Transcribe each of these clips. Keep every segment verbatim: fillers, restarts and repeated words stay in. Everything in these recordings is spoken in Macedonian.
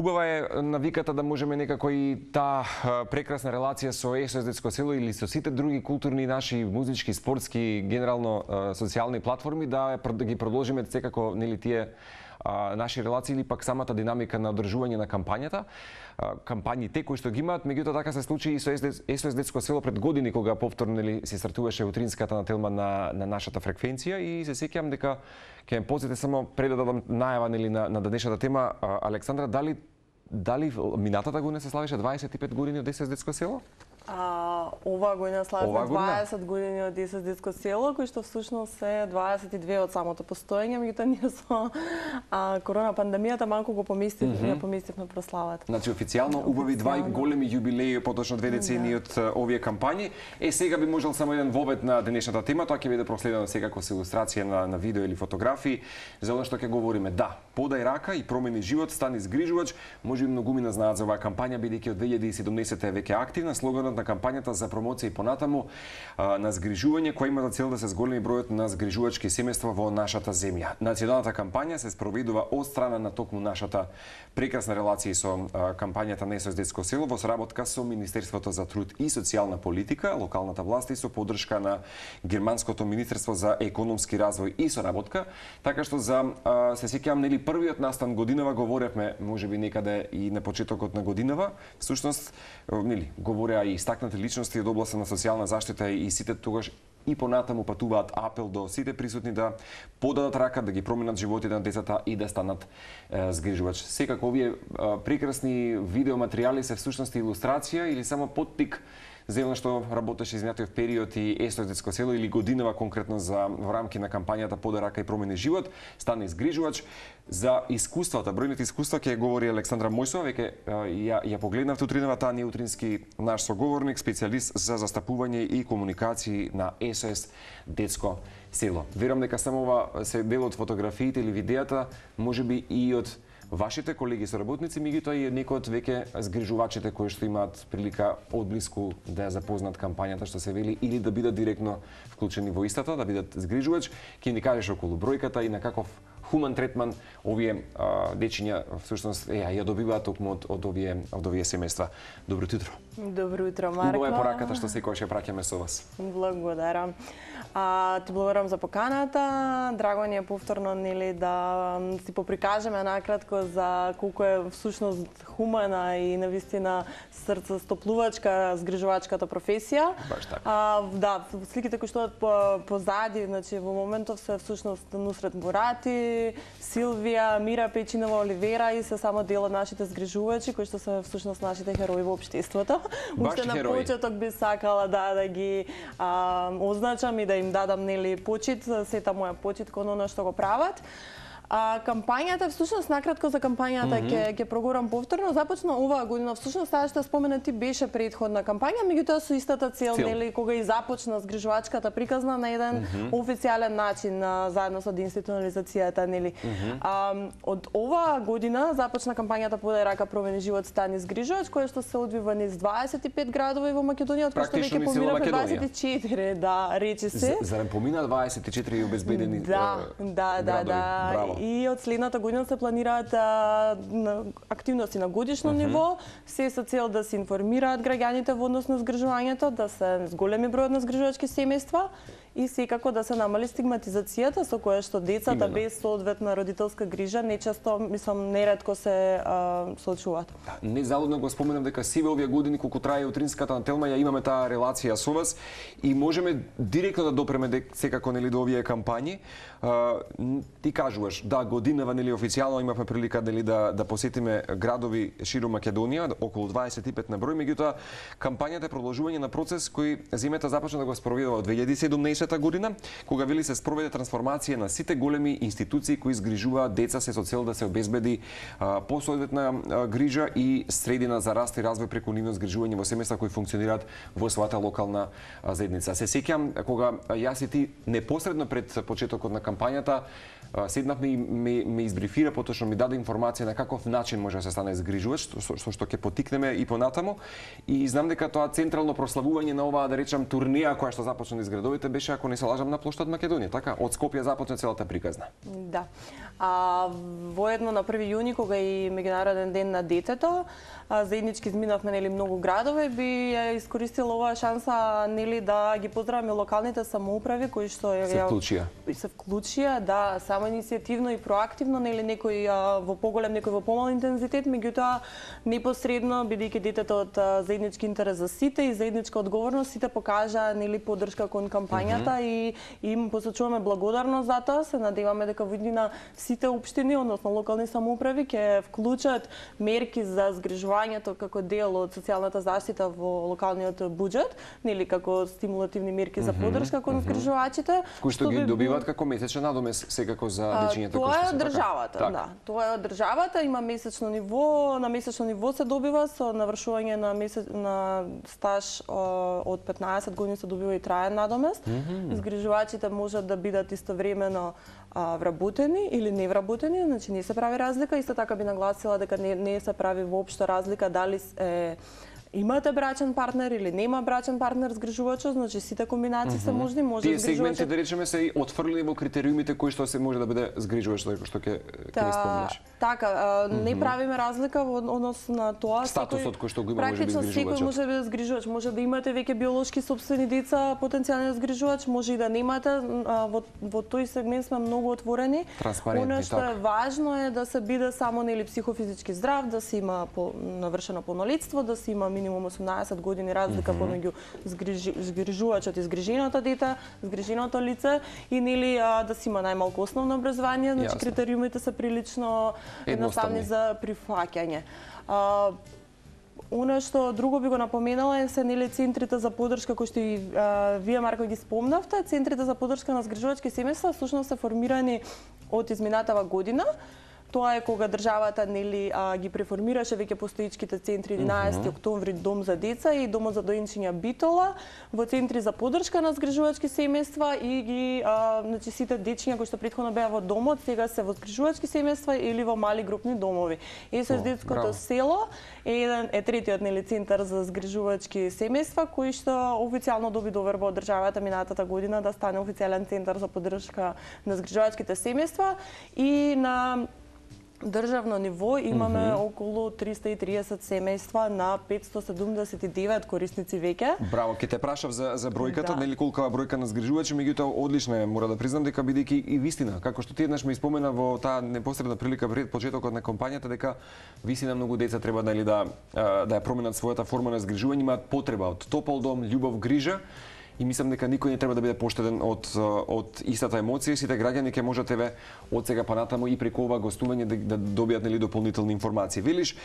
Убава е навиката да можеме некако и таа прекрасна релација со ес о ес детско село или со сите други културни наши музички, спортски, генерално социјални платформи да да ги продолжиме секако нели тие а, наши релации или пак самата динамика на одржување на кампањата, а, кампањите кои што ги имаат, меѓутоа така се случи и со ес о ес детско село пред години кога повторно нели се стартуваше утринската на телма на на нашата фреквенција и се сеќавам дека ќе ме позите само пред да дадам најава нели на на денешната тема. А, Александра, дали дали минатата година се славеше дваесет и пет години од ес о ес детско село? А, оваа година славиме дваесет години од ес о ес детско село, кои што всушност е дваесет и две од самото постоење, меѓутоа ние со а, корона пандемијата малку го поместивме, mm -hmm. поместивме прославата. Значи официјално убави два големи јубилеи, поточно две децении од да. овие кампањи. Е сега би можел само еден вовед на денешната тема, тоа ќе биде проследено секако со илустрација на на видео или фотографии за она што ќе говориме. Да, подај рака и промени живот, стани згрижувач. Може би многумина знаат за оваа кампања бидејќи од две илјади и седумнаесетта е веќе активна. Слоганот на кампањата за промоција и понатаму а, на згрижување која има за цел да се зголеми бројот на згрижувачки семејства во нашата земја. Националната кампања се спроведува од страна на токму нашата прекрасна релација со а, кампањата на ес о ес детско село во соработка со Министерството за труд и социјална политика, локалната власт и со поддршка на Германското министерство за економски развој и соработка. Така што за а, се сеќавам нели првиот настан годинава говоревме можеби некаде и на почетокот на годинава. Всушност нели говореа и истакнати личности од областа на социјална заштита и сите тогаш и понатаму патуваат апел до сите присутни да подадат рака, да ги променат животите на децата и да станат е, згрижувач. Секако овие е, прекрасни видеоматеријали се всушност илустрација или само поттик за она што работеше изминатиот период и ес о ес детско село или годинава конкретно за во рамки на кампањата Подај рака и промени живот, стане згрижувач. За искуствата, бројните искуства ќе говори Александра Мојсова, веќе ја ја погледнавте утринава, таа не утрински наш соговорник, специјалист за застапување и комуникации на ес о ес детско село. Верувам дека само ова се дел од фотографиите или видеата, можеби и од вашите колеги соработници, меѓутоа и некои од веќе згрижувачите кои што имаат прилика одблиску да ја запознат кампањата што се вели или да бидат директно вклучени во истата, да бидат згрижувач, ќе ни кажеш околу бројката и на каков хуман третман овие а, дечиња всушност е, ја добиваат токму од, од овие од овие семејства. Добро утро. Добро утро, Марко. Убава е пораката што секогаш ја праќаме со вас. Благодарам. А, ти благодарам за поканата. Драго ни е повторно нели да си поприкажеме накратко за колку е всушност хумана и навистина срцестоплувачка, згрижувачката професија. Баш така. А, да, сликите кои што позади, значи во моментов се всушност Нусрет Мурати, Силвија, Мира Печинова Оливера и се само дел од нашите згрижувачи кои што се всушност нашите херои во општеството. Уште на почеток би сакала да да ги а, означам и да им дадам нели почит, сета моја почит кон она што го прават. А кампањата, всушност накратко за кампањата ќе mm -hmm. ќе проговорам повторно, започна оваа година. Всушност таа што споменати беше претходна кампања, меѓутоа со истата цел, цел. нели кога и започна згрижувачката приказна на еден mm -hmm. официјален начин а, заедно со деинституционализацијата, нели. Mm -hmm. а, од оваа година започна кампањата Подај рака промени живот, стани згрижувач, која што се одвива низ дваесет и пет градови во Македонија, од кои што веќе поминавме дваесет и четири, да, речи се. Зарем помина дваесет и четири обезбедени да, да, да, да. Браво. И од следната година се планираат а, на активности на годишно uh -huh. ниво, се со цел да се информираат граѓаните во однос на згрижувањето, да се зголеми бројот на згрижувачки семејства и секако да се намали стигматизацијата со која што децата Именно. без соодветна родителска грижа нечесто, мислам, неретко се а, соочуваат. Да, не залудно го споменам дека сиве овие години колку трае утринската на телма, ја имаме таа релација со вас и можеме директно да допреме дека секако нели до овие кампањи. А, ти кажуваш, да, годинава нели официјално имавме прилика нели да да посетиме градови широм Македонија, околу дваесет и пет на број, меѓутоа кампањата е продолжување на процес кој земјата започна да го спроведува од две илјади и седумнаесетта година, кога вели се спроведе трансформација на сите големи институции кои згрижуваат деца се со цел да се обезбеди посоодветна грижа и средина за раст и развој преку нивно згрижување во семејства кои функционираат во својата локална заедница. Се сеќам кога јас и ти непосредно пред почетокот на кампањата седнавме и ме, ме избрифира, поточно ми даде информација на каков начин може да се стане згрижувач, со, со што ќе потикнеме и понатаму. И знам дека тоа централно прославување на оваа, да речам, турнеја која што започна низ градовите беше беше, ако не се лажам, на плоштад Македонија, така? Од Скопје започна целата приказна. Да. А, воедно на први јуни, кога и меѓународен ден на детето, а, заеднички изминавме нели многу градове, би ја искористила оваа шанса нели да ги поздравиме локалните самоуправи кои што ја се вклучија. Се вклучија, да, само иницијативно и проактивно, нели некој а, во поголем, некој во помал интензитет, меѓутоа непосредно бидејќи детето од а, заеднички интерес за сите и заедничка одговорност, сите покажа нели поддршка кон кампањата mm -hmm. и им посочуваме благодарност за тоа. Се надеваме дека во иднина сите општини, односно локални самоуправи ќе вклучат мерки за згрижувањето како дел од социјалната заштита во локалниот буџет, нели како стимулативни мерки за поддршка кон згрижувачите, кои што ги добиваат како месечна надомес секако за дечињата кои што се. Тоа е државата, така? Да. Тоа е од државата, има месечно ниво, на месечно ниво се добива со навршување на месец на стаж од петнаесет години се добива и траен надомест. Mm -hmm. Згрижувачите можат да бидат истовремено а, вработени или невработени, значи не се прави разлика. Исто така би нагласила дека не, не се прави воопшто разлика дали е имате брачен партнер или нема брачен партнер згрижувачот, значи сите комбинации mm -hmm. се можни, може тие згрижувачот. сегменти да речеме се и отфрлени во критериумите кои што се може да биде згрижувач, како што ќе ќе ни спомнеш. Така, а, mm -hmm. не правиме разлика во однос на тоа. Статусот кој што го има може би згрижувачот. Практично секој може да биде згрижувач, може да имате веќе биолошки сопствени деца, потенцијален згрижувач, може и да немате. А, во во тој сегмент сме многу отворени. Транспарентни, Она што така. е важно е да се биде само нели психофизички здрав, да се има по, навршено полнолетство, да се има минимум осумнаесет години разлика mm -hmm. помеѓу згрижи, згрижувачот и згриженото дете, згриженото лице и нели а, да се има најмалку основно образование, значи Јасно. критериумите се прилично едноставни за прифаќање. А, Она што друго би го напоменала е се нели центрите за поддршка кои што и а, вие Марко ги спомнавте. Центрите за поддршка на згрижувачки семејства всушност се формирани од изминатава година. Тоа е кога државата нели а, ги преформираше веќе постоичките центри единаесети октомври Дом за деца и Домот за доенчиња Битола во центри за поддршка на згрижувачки семејства и ги а, значи сите дечиња кои што претходно беа во домот сега се во згрижувачки семејства или во мали групни домови. ес-ес детското село е еден е третиот нели центар за згрижувачки семејства кој што официјално доби доверба од државата минатата година да стане официјален центар за поддршка на згрижувачките семејства и на државно ниво имаме mm -hmm. околу триста и триесет семејства на петсто седумдесет и девет корисници веќе. Браво, ќе те прашав за за бројката, Да. нели колкава бројка на згрижувачи, меѓутоа одлична е, мора да признам дека бидејќи и вистина, како што ти еднаш ме испомена во таа непосредна прилика пред почетокот на кампањата дека вистина многу деца треба нели да да ја променат својата форма на згрижување, имаат потреба од топол дом, љубов, грижа. И мислам дека никој не треба да биде поштеден од од истата емоција. Сите граѓани ќе можат еве од сега па натаму и преку ова гостување да, да добијат нели дополнителни информации. Велиш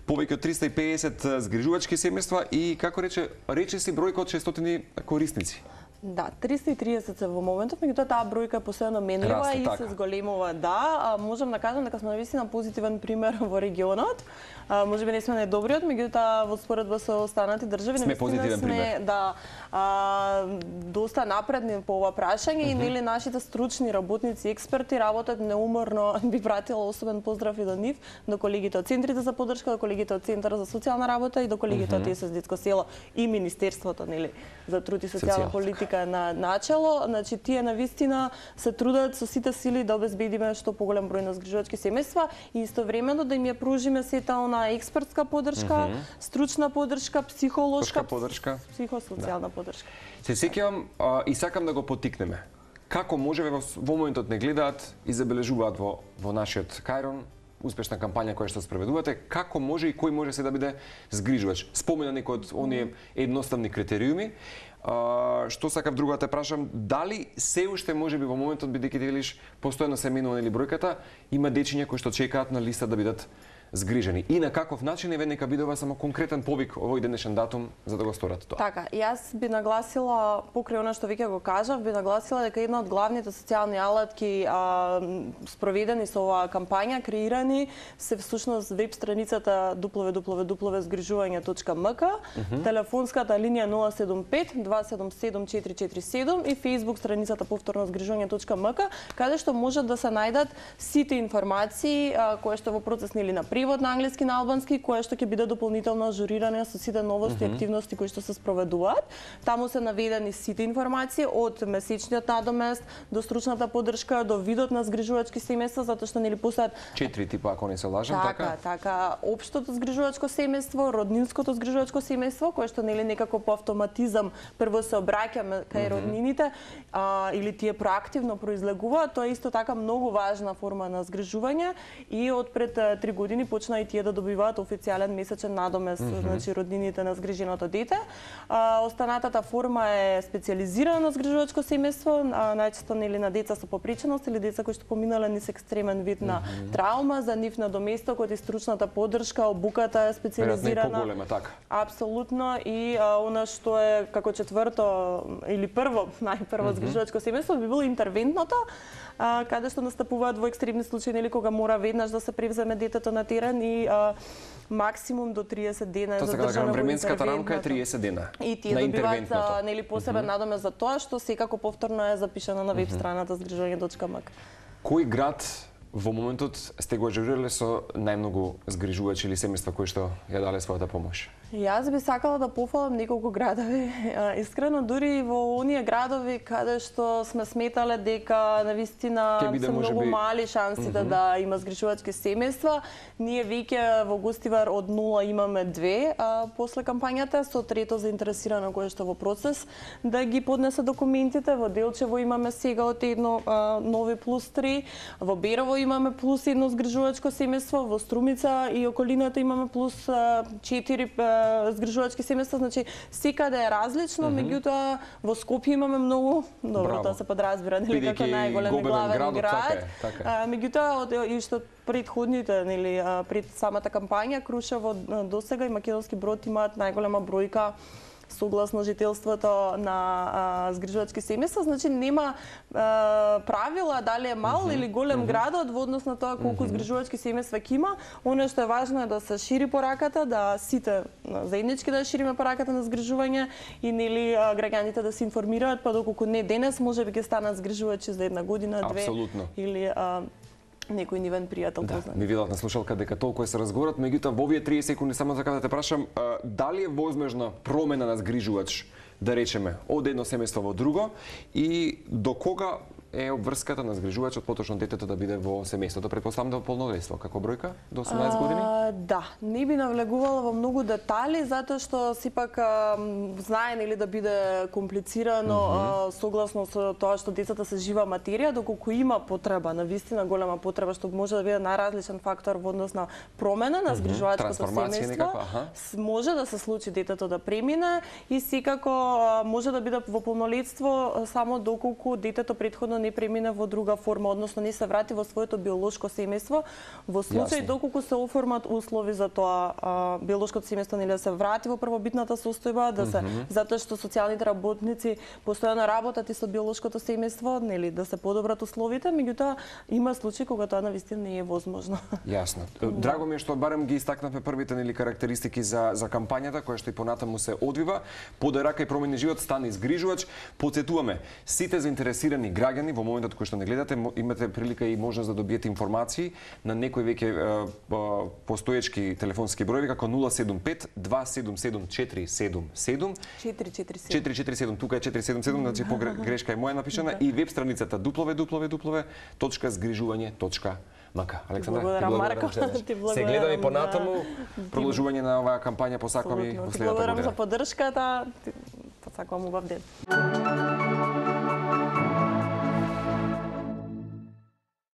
повеќе од триста и педесет згрижувачки семејства и како рече рече си бројка од шестстотини корисници. Да, триста и триесет се во моментов, меѓутоа таа бројка е постојано менлива Расте, и така. се зголемува. Да, а, можам да кажам дека сме навистина позитивен пример во регионот. А, може би не сме најдобриот, меѓутоа во споредба со останати држави Сме позитивен сме пример. да а, доста напредни по ова прашање mm -hmm. и нели нашите стручни работници, експерти работат неуморно. Би пратила особен поздрав и до нив, до колегите од центрите за поддршка, до колегите од Центарот за социјална работа и до колегите mm -hmm. од ес-ес детско село и Министерството нели за труд и социјална политика на начело. Значи тие навистина се трудат со сите сили да обезбедиме што поголем број на згрижувачки семејства и истовремено да им ја пружиме сета на експертска поддршка, mm -hmm. стручна поддршка, психолошка поддршка, психосоцијална да. поддршка. Се сеќавам и сакам да го поттикнеме. Како можеме во, во моментот не гледаат и забележуваат во во нашиот Кајрон успешна кампања која што спроведувате, како може и кој може се да биде згрижувач? Спомена некој од оние едноставни критериуми. А, што сакав друго да те прашам, дали се уште можеби во моментот бидејќи ти велиш постојано се менува нели бројката, има дечиња кои што чекаат на листа да бидат згрижени. И на каков начин еве нека биде ова само конкретен повик овој денешен датум за да го сторат тоа. Така, јас би нагласила покрај она што веќе го кажав, би нагласила дека една од главните социјални алатки а, спроведени со оваа кампања, креирани се всушност веб страницата дабл ю дабл ю дабл ю точка згрижување точка ем ка, mm -hmm. телефонската линија нула седум пет два седум седум четири четири седум и Facebook страницата повторно згрижување точка ем ка, каде што можат да се најдат сите информации а, кои што во процес нели на превод на англиски на албански, кое што ќе биде дополнително ажуриране со сите новости и активности кои што се спроведуваат. Таму се наведени сите информации од месечниот надомест до стручната поддршка до видот на згрижувачки семејства, затоа што нели постојат четири типа, ако не се лажам, така? Така, така, општото згрижувачко семејство, роднинското згрижувачко семејство, кое што нели некако по автоматизам прво се обраќаме кај роднините, а, или тие проактивно произлегуваат, тоа е исто така многу важна форма на згрижување и од пред три години почна и тие да добиваат официјален месечен надомест, mm -hmm. значи роднините на згриженото дете. А, останатата форма е специјализирано згрижувачко семејство, најчесто нели на деца со попреченост или деца кои што поминале низ екстремен вид на mm -hmm. травма, за нив на доместокот и стручната поддршка, обуката е специјализирана. Поголема, така. Апсолутно, и а, она што е како четврто или прво, најпрво mm -hmm. згрижувачко семејство би било интервентното, а, каде што настапуваат во екстремни случаи, нели кога мора веднаш да се превземе детето на терен и а, максимум до триесет дена е задржано во интервентното. временската рамка е триесет дена. И тие добиваат нели посебен mm -hmm. надомест за тоа, што секако повторно е запишано на веб страната згрижување точка м к. Кој град во моментот сте го ажурирале со најмногу згрижувачи или семејства кои што ја дале својата помош? Јас би сакала да пофалам неколку градови. Искрено, дури во оние градови каде што сме сметале дека навистина се многу би... мали шансите mm -hmm. да има згрижувачки семејства, ние веќе во Гостивар од нула имаме две а, после кампањата, со трето заинтересирано кое што во процес да ги поднесе документите. Во Делчево имаме сега од едно а, нови плюс три, во Берово имаме плюс едно згрижувачко семејство, во Струмица и околината имаме плюс четири згрижувачки семејства, значи секаде е различно, mm -hmm. меѓутоа во Скопје имаме многу, добро, тоа се подразбира, нели како најголем и главен град, град. Така е, така е. А, меѓутоа и што предходните, нели, пред самата кампања, Крушево досега и Македонски Брод имаат најголема бројка согласно жителството на а, згрижувачки семејства, значи нема а, правила дали е мал mm -hmm. или голем mm -hmm. градот во однос на тоа колку mm -hmm. згрижувачки семејства ќе има. Оно што е важно е да се шири пораката, да сите заеднички да шириме пораката на згрижување и нели граѓаните да се информираат, па доколку не денес можеби ќе станат згрижувачи за една година, две. Апсолутно. Или а, некој нивен пријател да, познат. Ми видат на слушалка дека толку се разговарат, меѓутоа во овие тридесет секунди само за да те прашам, а, дали е возможна промена на згрижувач, да речеме, од едно семејство во друго и до кога е обврската на згрижувачот поточно детето да биде во семејството, претпоставам до полнодејство, како бројка до осумнаесет години? А, да, не би навлегувала во многу детали затоа што сепак знае нели да биде комплицирано mm -hmm. а, согласно со тоа што децата се жива материја, доколку има потреба, навистина голема потреба што може да биде најразличен фактор во однос на промена на згрижувачкото семејство, може да се случи детето да премине и секако а, може да биде во полнолетство само доколку детето претходно не премине во друга форма, односно не се врати во своето биолошко семејство. Во случај Јасно. Доколку се оформат услови за тоа а, биолошкото семејство нели да се врати во првобитната состојба, да се mm -hmm. затоа што социјалните работници постојано работат и со биолошкото семејство, нели да се подобрат условите, меѓутоа има случаи кога тоа навистина не е возможно. Јасно. Драго ми е што барем ги истакнавме првите нели карактеристики за за кампањата која што и понатаму се одвива. Подај рака и промени живот, стани згрижувач. Потсетуваме сите заинтересирани граѓани во моментот кој што не гледате, имате прилика и можност да добиете информации на некои веќе постоечки телефонски броеви како нула седум пет два седум седум четири седум седум четири четири седум четири четири седум, тука е четири седум седум, значи погрешка е моја напишана, и веб страницата дабл ю дабл ю дабл ю точка згрижување точка м к. Александра, ти благодарам, Марко. Се гледаме понатаму продолжување на оваа кампања, посакувам и во следната година. Благодарам за поддршката. Посакувам убав ден.